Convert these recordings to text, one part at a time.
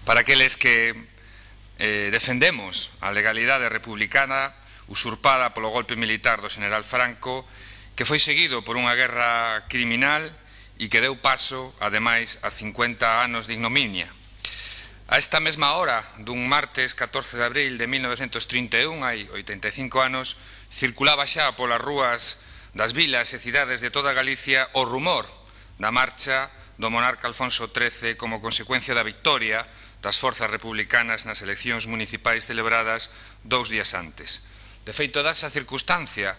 para aqueles que defendemos a legalidade republicana usurpada polo golpe militar do general Franco, que foi seguido por unha guerra criminal e que deu paso, ademais, a 50 anos de ignominia. A esta mesma hora dun martes 14 de abril de 1931, hai 85 anos, circulaba xa polas rúas das vilas e cidades de toda Galicia o rumor da marcha do monarca Alfonso XIII como consecuencia da victoria das forzas republicanas nas eleccións municipais celebradas 2 días antes. De feito, dá esa circunstancia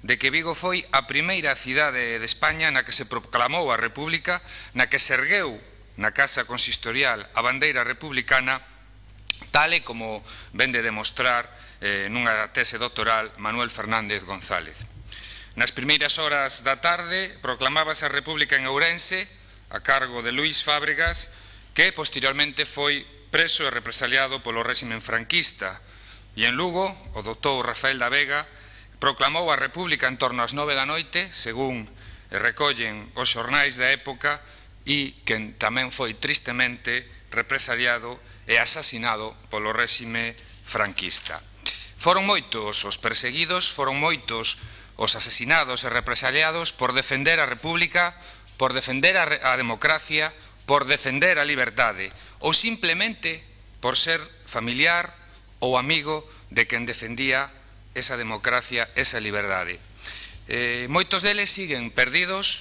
de que Vigo foi a primeira cidade de España na que se proclamou a República, na que se ergueu na Casa Consistorial a bandeira republicana, tal e como ven de demostrar nunha tese doctoral Manuel Fernández González. Nas primeiras horas da tarde proclamábase a República en Ourense a cargo de Luís Fábregas, que posteriormente foi preso e represaliado polo réximen franquista, e en Lugo o doutor Rafael da Vega proclamou a República en torno ás 9 da noite, según recollen os xornais da época, e que tamén foi tristemente represaliado e asasinado polo réxime franquista. Foron moitos os perseguidos, foron moitos os asesinados e represaliados por defender a República, por defender a democracia, por defender a liberdade, ou simplemente por ser familiar ou amigo de quen defendía esa democracia, esa liberdade. Moitos deles siguen perdidos,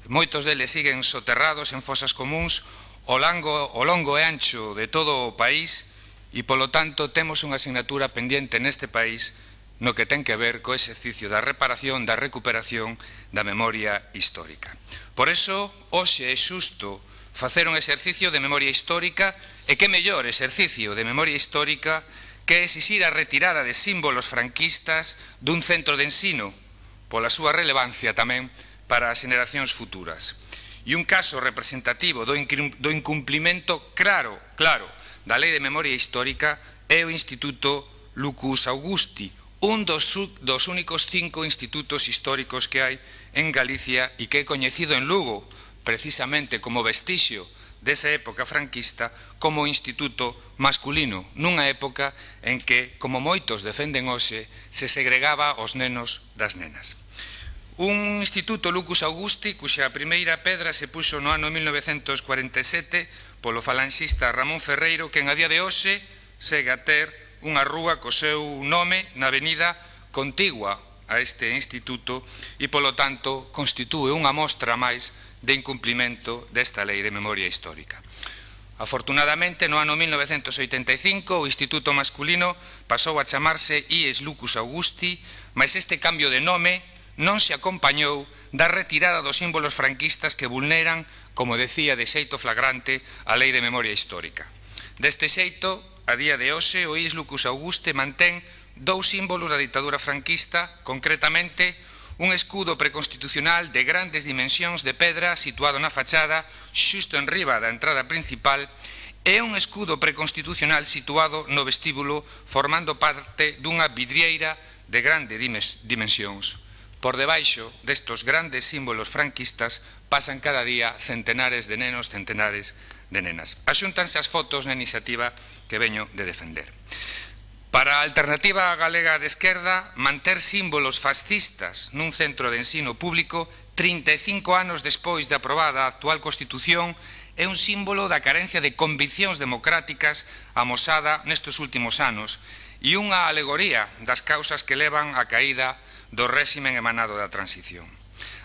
moitos deles siguen soterrados en fosas comúns ao longo e ancho de todo o país, e polo tanto temos unha asignatura pendiente neste país no que ten que ver co exercicio da reparación, da recuperación da memoria histórica. Por eso, hoxe é xusto facer un exercicio de memoria histórica, e que mellor exercicio de memoria histórica que exixir a retirada de símbolos franquistas dun centro de ensino, pola súa relevancia tamén para as xeracións futuras. E un caso representativo do incumplimento claro da Lei de Memoria Histórica é o Instituto Lucus Augusti, un dos únicos 5 institutos históricos que hai en Galicia e que é coñecido en Lugo, precisamente como vestixio desa época franquista, como instituto masculino, nunha época en que, como moitos defenden hoxe, se segregaba os nenos das nenas. Un instituto Lucus Augusti cuxa primeira pedra se puxo no ano 1947 polo falanxista Ramón Ferreiro, que en a día de hoxe segue a ter unha rúa co seu nome na avenida contigua a este instituto e, polo tanto, constitúe unha mostra máis de incumplimento desta Lei de Memoria Histórica. Afortunadamente, no ano 1985, o Instituto Masculino pasou a chamarse IES Lucus Augusti, mas este cambio de nome non se acompañou da retirada dos símbolos franquistas que vulneran, como decía de xeito flagrante, a Lei de Memoria Histórica. Deste xeito, a día de hoxe, o IES Lucus Augusti mantén 2 símbolos da ditadura franquista, concretamente un escudo preconstitucional de grandes dimensións de pedra situado na fachada xusto en riba da entrada principal e un escudo preconstitucional situado no vestíbulo formando parte dunha vidrieira de grandes dimensións. Por debaixo destos grandes símbolos franquistas pasan cada día centenares de nenos, centenares de nenas. Axúntanse as fotos na iniciativa que veño de defender. Para a Alternativa Galega de Esquerda, manter símbolos fascistas nun centro de ensino público 35 anos despois de aprobada a actual Constitución é un símbolo da carencia de conviccións democráticas amosada nestes últimos anos e unha alegoría das causas que levan á caída do réximen emanado da transición.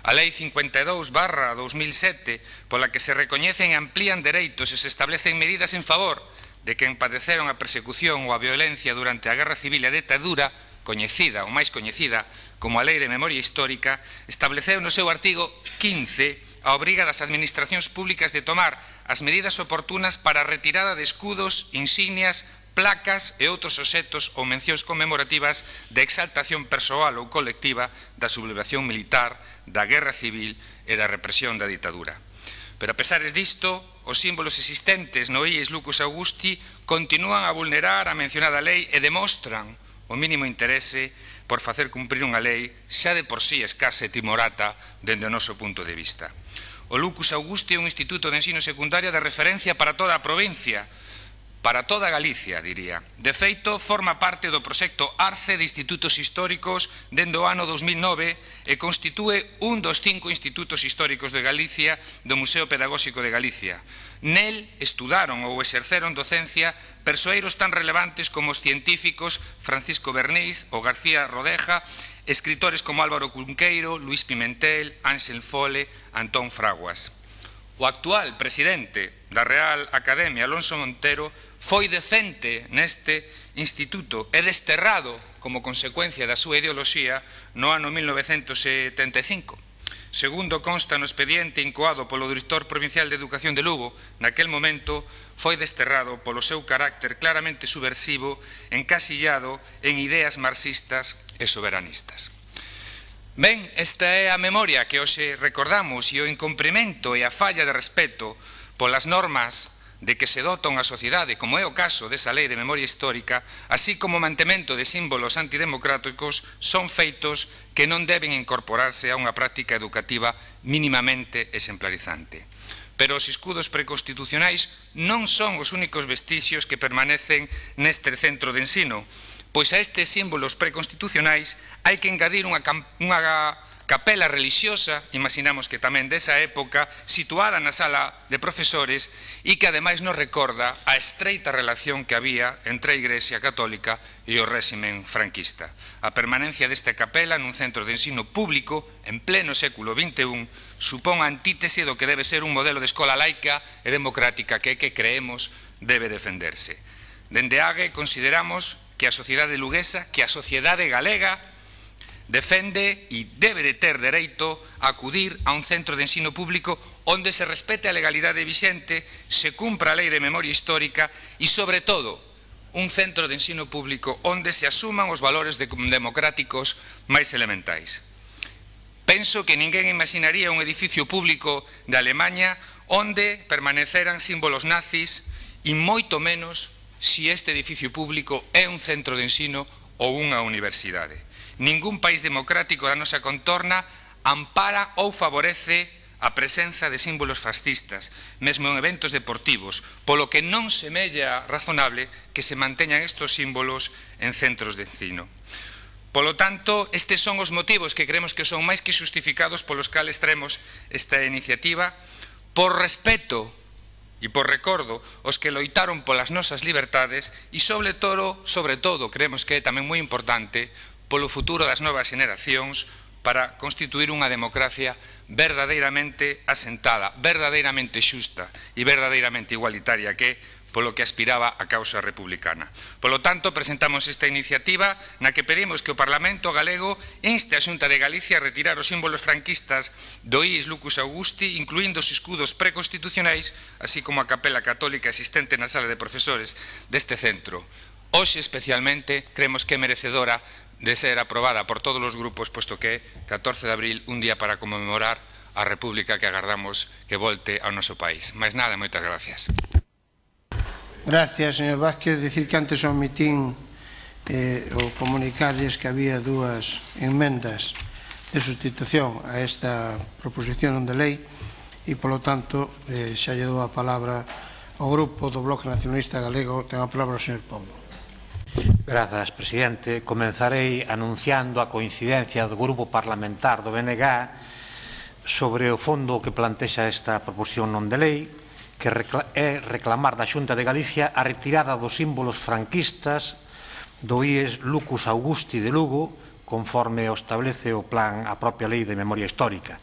A Lei 52/2007, pola que se recoñecen e amplían dereitos e se establecen medidas en favor de quen padeceron a persecución ou a violencia durante a Guerra Civil e a ditadura, coñecida ou máis coñecida como a Lei de Memoria Histórica, estableceu no seu artigo 15 a obriga das administracións públicas de tomar as medidas oportunas para a retirada de escudos, insignias, placas e outros obxectos ou mencións conmemorativas de exaltación persoal ou colectiva da sublevación militar, da Guerra Civil e da represión da ditadura. Pero a pesares disto, os símbolos existentes no IES Lucus Augusti continúan a vulnerar a mencionada lei e demostran o mínimo interese por facer cumprir unha lei xa de por sí escasa e timorata dende o noso punto de vista. O Lucus Augusti é un instituto de ensino secundario de referencia para toda a provincia, para toda Galicia, diría. De feito, forma parte do proxecto ARCE de Institutos Históricos dende o ano 2009 e constitúe un dos 5 institutos históricos de Galicia do Museo Pedagóxico de Galicia. Nel estudaron ou exerceron docencia persoeiros tan relevantes como os científicos Francisco Berniz ou García Rodeja, escritores como Álvaro Cunqueiro, Luís Pimentel, Ángel Fole, Antón Fraguas. O actual presidente da Real Academia, Alonso Montero, foi decente neste instituto e desterrado como consecuencia da súa ideoloxía no ano 1975. Segundo consta no expediente incoado polo director provincial de Educación de Lugo, naquel momento foi desterrado polo seu carácter claramente subversivo, encasillado en ideas marxistas e soberanistas. Ben, esta é a memoria que hoxe recordamos e o incumprimento e a falla de respeto polas normas de que se dota unha sociedade, como é o caso desa lei de memoria histórica, así como o mantemento de símbolos antidemocráticos, son feitos que non deben incorporarse a unha práctica educativa mínimamente exemplarizante. Pero os escudos preconstitucionais non son os únicos vestixios que permanecen neste centro de ensino, pois a estes símbolos preconstitucionais hai que engadir unha capela religiosa, imaginamos que tamén desa época, situada na sala de profesores e que ademais nos recorda a estreita relación que había entre a Igrexa Católica e o réximen franquista. A permanencia desta capela nun centro de ensino público en pleno século XXI supón a antítese do que debe ser un modelo de escola laica e democrática que creemos debe defenderse. Dende AGE consideramos que a sociedade luguesa, que a sociedade galega defende e debe de ter dereito a acudir a un centro de ensino público onde se respete a legalidade vixente, se cumpra a lei de memoria histórica e, sobre todo, un centro de ensino público onde se asuman os valores democráticos máis elementais. Penso que ninguén imaginaría un edificio público de Alemaña onde permaneceran símbolos nazis e moito menos se este edificio público é un centro de ensino ou unha universidade. Ningún país democrático da nosa contorna ampara ou favorece a presenza de símbolos fascistas, mesmo en eventos deportivos, polo que non semella razonable que se manteñan estes símbolos en centros de ensino. Polo tanto, estes son os motivos que creemos que son máis que xustificados polos cales traemos esta iniciativa, por respeto e por recordo os que loitaron polas nosas libertades e, sobre todo, creemos que é tamén moi importante, polo futuro das novas xeneracións para constituir unha democracia verdadeiramente asentada, verdadeiramente xusta e verdadeiramente igualitaria, que polo que aspiraba a causa republicana. Polo tanto, presentamos esta iniciativa na que pedimos que o Parlamento galego inste a Xunta de Galicia a retirar os símbolos franquistas do IES Lucus Augusti, incluindo os escudos preconstitucionais, así como a capela católica existente na sala de profesores deste centro. Hoxe, especialmente, creemos que é merecedora de ser aprobada por todos os grupos, posto que é 14 de abril, un día para conmemorar a República que agardamos que volte ao noso país. Mais nada, moitas gracias. Gracias, señor Vázquez. Dicir que antes omitín o comunicarles que había dúas enmendas de sustitución a esta proposición de lei e, polo tanto, xa lle dou a palabra ao grupo do Bloque Nacionalista Galego. Ten a palabra o señor Pombo. Grazas, presidente. Comenzarei anunciando a coincidencia do grupo parlamentar do BNG sobre o fondo que plantexa esta proposición non de lei, que é reclamar da Xunta de Galicia a retirada dos símbolos franquistas do IES Lucus Augusti de Lugo, conforme o establece o plan a propia lei de memoria histórica.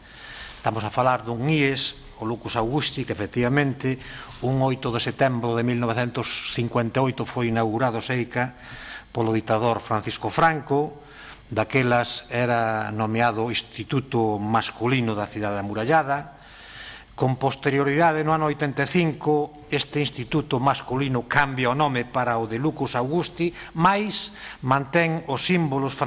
Estamos a falar dun IES, o Lucus Augusti, que efectivamente un 8 de setembro de 1958 foi inaugurado seica polo ditador Francisco Franco. Daquelas era nomeado Instituto Masculino da Cidade Amurallada. Con posterioridade, no ano 85, este instituto masculino cambia o nome para o de Lucus Augusti, mais mantén os símbolos